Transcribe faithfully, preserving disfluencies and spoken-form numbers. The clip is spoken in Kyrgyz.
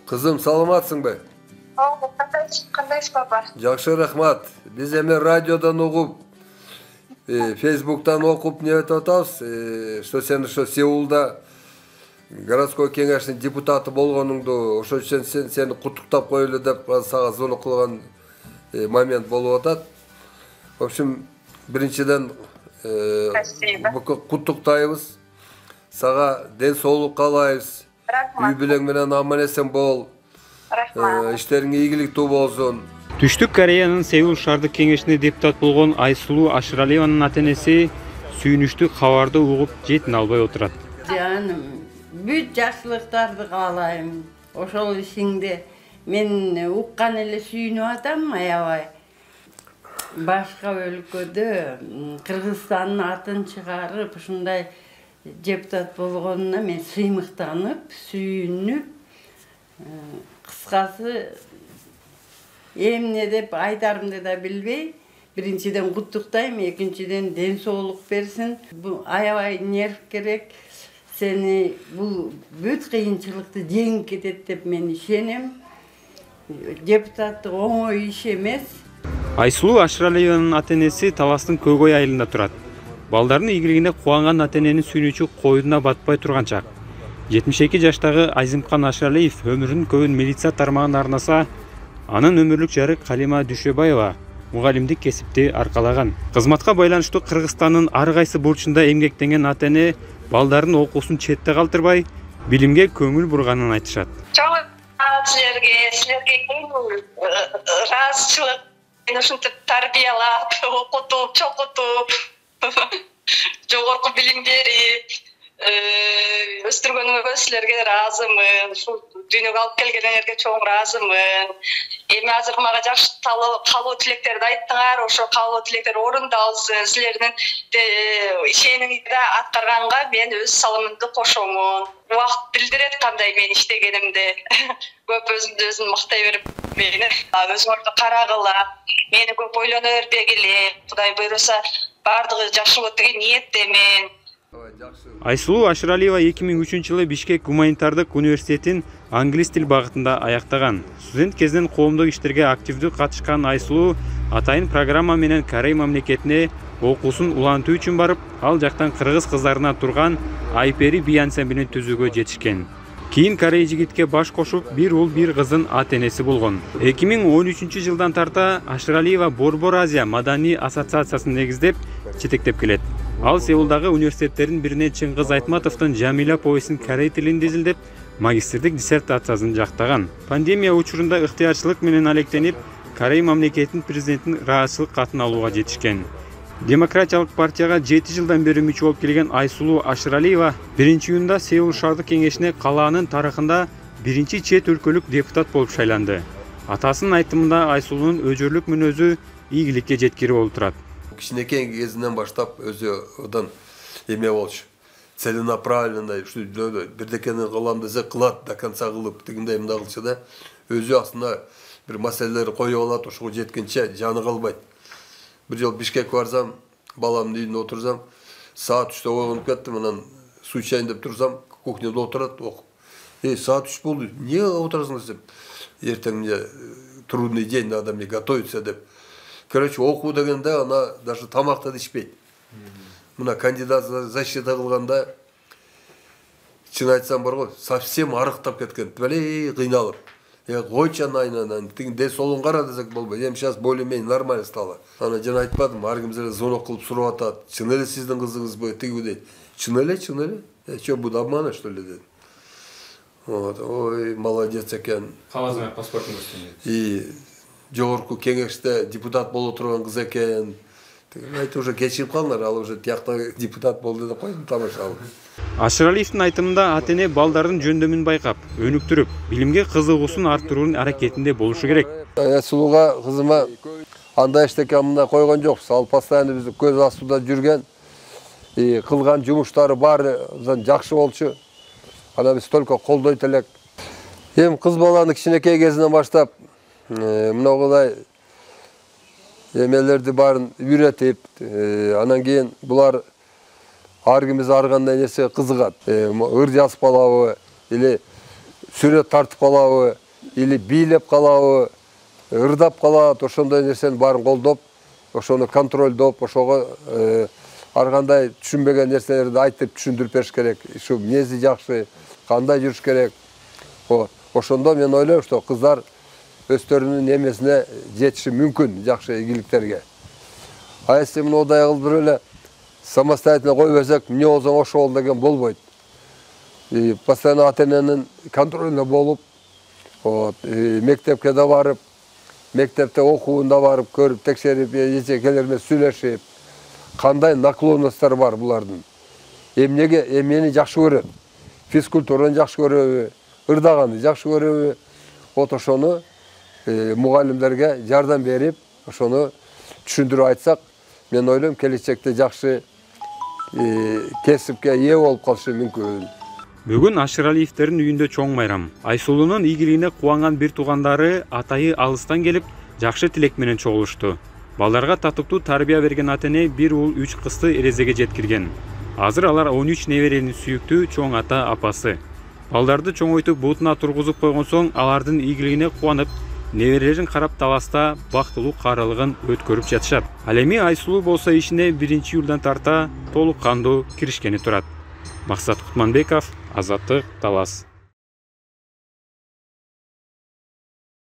Кызым, саламатсыңбы? Ооба, кандайсыз баба? Жакшы, рахмат. Биз эми радиодон угуп, Фейсбуктан окуп не айтып атабыз, что сен ошо Сеулда городской кеңештин депутаты болгонуңду, ошол үчүн сен сени куттуктап коелу деп сага звонок кылган момент болуп атат. В общем, биринчиден куттуктайбыз. Сага ден соолук каалайбыз. Үй бүлөң менен аман эсен бол. Рахмат. Иштериң ийгиликтүү болсун. Түштүк Кореянын Сеул шаардык кеңешине депутат болгон Айсулуу Ашыралиеванын ата-энеси сүйүнүчтүү кабарды угуп жетине албай отурат. Жаным, бүт жакшылыктарды каалайм. Ошол ишиңде мен уккан эле сүйүнүп атам, аябай. Башка өлкөдө Кыргызстандын атын чыгарып, ушундай депутат болгонуна мен сыймыктанып, сүйүнүп, кыскасы эмне деп айтарымды да билбей, биринчиден куттуктайм, экинчиден ден соолук берсин. Бул аябай нерв керек. Сени бул бүт кыйынчылыкты жеңип кетет деп мен ишенем. Депутаттык оңой иш эмес. Айсулуу Ашыралиеванын ата-энеси Таластын Көкөй айылында турат. Балдардын ийгилигине кубанган ата-эненин сүйүнүчү койдуна батпай турган чак. жетимиш эки жаштагы Айзымкан Ашыралиев өмүрүнүн көбүн милиция тармагына арнаса, анын өмүрлүк жары Калима Дүшөбаева мугалимдик кесипти аркалаган. Кызматка байланыштуу Кыргызстандын ар кайсы бурчунда эмгектенген ата-эне балдардын окуусун четте калтырбай, билимге көңүл бурганын айтышат. Чоң силерге, силерге ыраазычылык, мени ушинтип тарбиялап, окутуп, чокутуп, жогорку билим берип, өстүргөнүңөргө силерге ыраазымын. Ушул дүйнөгө алып келгениңерге чоң ыраазымын. Эми азыр мага жакшы каалоо тилектерди айттыңар, ошо каалоо тилектер орундалсын. Силердин ишениңизди аткарганга мен өз салымымды кошомун. Убакыт билдирет кандай мен иштегенимди. Көп өзүмдү өзүм мактай берип, мени өзүңөрдү карагыла, мени көп ойлоно бербегиле. Кудай буйруса, бардыгы жакшы болот деген ниеттемин. Айсулуу Ашыралиева эки миң үчүнчү жылы Бишкек гуманитардык университетин англис тил багытында аяктаган. Студент кезинен коомдук иштерге активдүү катышкан Айсулуу атайын программа менен Корей мамлекетине окуусун улантуу үчүн барып, ал жактан кыргыз кыздарына турган Айпери би ансамблин түзүүгө жетишкен. Кийин Корей жигитке баш кошуп, бир уул бир кыздын ата-энеси болгон. эки миң он үчүнчү жылдан тарта Ашыралиева Борбор Азия маданий ассоциациясын негиздеп, жетектеп келет. Ал Сеулдагы университеттердин бирине Чыңгыз Айтматовдун Жамиля повестин корей тилинде изилдеп, магистрдик диссертациясын жактаган. Пандемия учурунда ыктыярчылык менен алектенип, Корей мамлекетинин президентин ыраазычылык катын алууга жетишкен. Демократиялык партияга жети жылдан бери мүчө болуп келген Айсулуу Ашыралиева биринчи июнда Сеул шаардык кеңешине калаанын тарыхында биринчи чет өлкөлүк депутат болуп шайланды. Атасынын айтымында Айсулуунун өжөрлүк мүнөзү ийгиликке жеткири болуп турат. Кичинекей кезинен баштап өзү одан эме болчу. Целенаправленно бирдекени кылам десе кылат, до конца кылып, тигиндей мындай кылчу да. Өзү астында бир маселелер коюп алат, ошого жеткенче жаны калбайт. Бир жолу Бишкекке барсам, баламдын үйүндө отурсам, саат үчтө ойгонуп кеттим, анан суу ичейин деп турсам, кухняда отурат, окуп. Эй, саат үч болду, эмне отурасың десем, эртең мне трудный день, надо мне готовиться деп. Короче, окуу дегенде ана даже тамакты да ичпейт. Мына кандидат защита кылганда, чын айтсам бар го, совсем арыктап кеткен, белей кыйналып. Я койчу анан, тиң ден соолугун кара десек болбойт. Эми сейчас более-менее нормально стало. Ана жана айтпадым, ар ким эле звонок кылып сурап атат. Чын эле сиздин кызыңызбы, тиги дейт. Чын эле, чын эле. Э, что, буду обманывать, что ли, дедим. Вот, ой, молодец экен. Калазыңар паспортуңузду. И жогорку кеңеште депутат боло турган кыз экен. Айтып уже кечирип калыңар, ал уже тиякта депутат болду деп койдум, тамашалап. Ашыралиевдин айтымында ата-эне балдардын жөндөмүн байкап, өнүктүрүп, билимге кызыгуусун арттыруунун аракетинде болушу керек. Айсулууга кызыма андай эчтеке мындай койгон жокпуз. Ал постоянно биз көз астында жүргөн, кылган жумуштары баары жакшы болчу. Ана биз только колдойт элек. Эми кыз баланы кичинекей кезинен баштап мынагыдай эмелерди баарын үйрөтүп, анан кийин булар ар кимиз ар кандай нерсеге кызыгат. Ыр жазып алабы или сүрөт тартып калабы или бийлеп калабы, ырдап калат, ошондой нерсенин баарын колдоп, ошону контролдоп, ошого ар кандай түшүнбөгөн нерселерди айтып түшүндүрүп бериш керек. Ушу минези жакшы, кандай жүрүш керек. Ошондо мен ойлойм, что кыздар өздөрүнүн эмесине жетиши мүмкүн, жакшы ийгиликтерге. А если мындай кылып бир эле самостоятельно кой берсек, эмне болсоң ошо бол деген болбойт. Постоянно ата-эненин контролунда болуп, мектепке да барып, мектепте окууунда барып, көрүп, текшерип, эчекелер менен сүйлөшүп, кандай наклонносттор бар булардын. Эмнеге эмнени жакшы көрөт? Физкультураны жакшы көрөбү, ырдаганды жакшы көрөбү? Вот ошону мугалимдерге жардам берип, ошону түшүндүрүп айтсак, мен ойлойм, келечекте жакшы кесипке ээ болуп калышы мүмкүн. Бүгүн Ашыралиевтердин үйүндө чоң майрам. Айсулуунун ийгилигине кубанган бир туугандары атайы алыстан келип, жакшы тилек менен чогулушту. Балдарга татыктуу тарбия берген ата-эне бир уул үч кызды эрезеге жеткирген. Азыр алар он үч неберенин сүйүктүү чоң ата апасы. Балдарды чоңойтуп бутуна тургузуп койгон соң алардын ийгилигине кубанып, неберелерин карап таласта бактылуу каралыгын өткөрүп жатышат. Ал эми Айсулуу болсо ишине биринчи июлдан тарта толук кандуу киришкени турат. Максат Кутманбеков, Азаттык, Талас.